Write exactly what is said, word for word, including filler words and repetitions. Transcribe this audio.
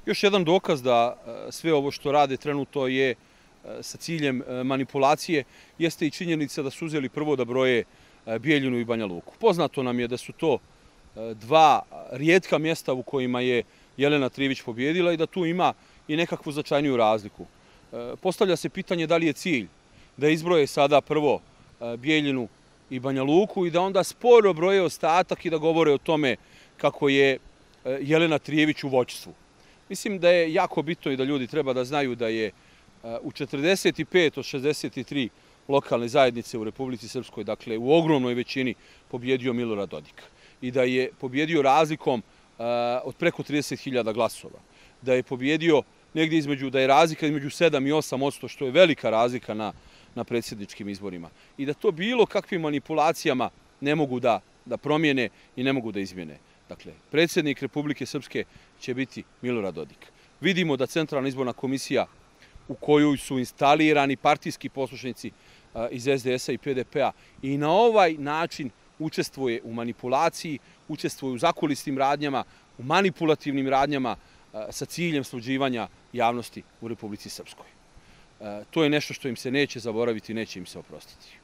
Još jedan dokaz da sve ovo što rade trenutno je sa ciljem manipulacije jeste i činjenica da su uzeli prvo da broje Bijeljinu i Banja Luku. Poznato nam je da su to dva rijetka mjesta u kojima je Jelena Trivić pobjedila i da tu ima i nekakvu značajniju razliku. Postavlja se pitanje da li je cilj da izbroje sada prvo Bijeljinu i Banja Luku i da onda sporo broje ostatak i da govore o tome kako je Jelena Trijević u vođstvu. Mislim da je jako bitno i da ljudi treba da znaju da je u četrdeset pet od šezdeset tri lokalne zajednice u Republici Srpskoj, dakle u ogromnoj većini, pobjedio Milorad Dodik. I da je pobjedio razlikom od preko trideset hiljada glasova. Da je pobjedio negdje između, da je razlika između sedam i osam posto, što je velika razlika na, na predsjedničkim izborima. I da to bilo kakvim manipulacijama ne mogu da, da promijene i ne mogu da izmjene. Dakle, predsjednik Republike Srpske će biti Milorad Dodik. Vidimo da Centralna izborna komisija u kojoj su instalirani partijski poslušnici iz S D S-a i P D P-a i na ovaj način učestvuje u manipulaciji, učestvuje u zakulisnim radnjama, u manipulativnim radnjama sa ciljem sluđivanja javnosti u Republici Srpskoj. To je nešto što im se neće zaboraviti, neće im se oprostiti.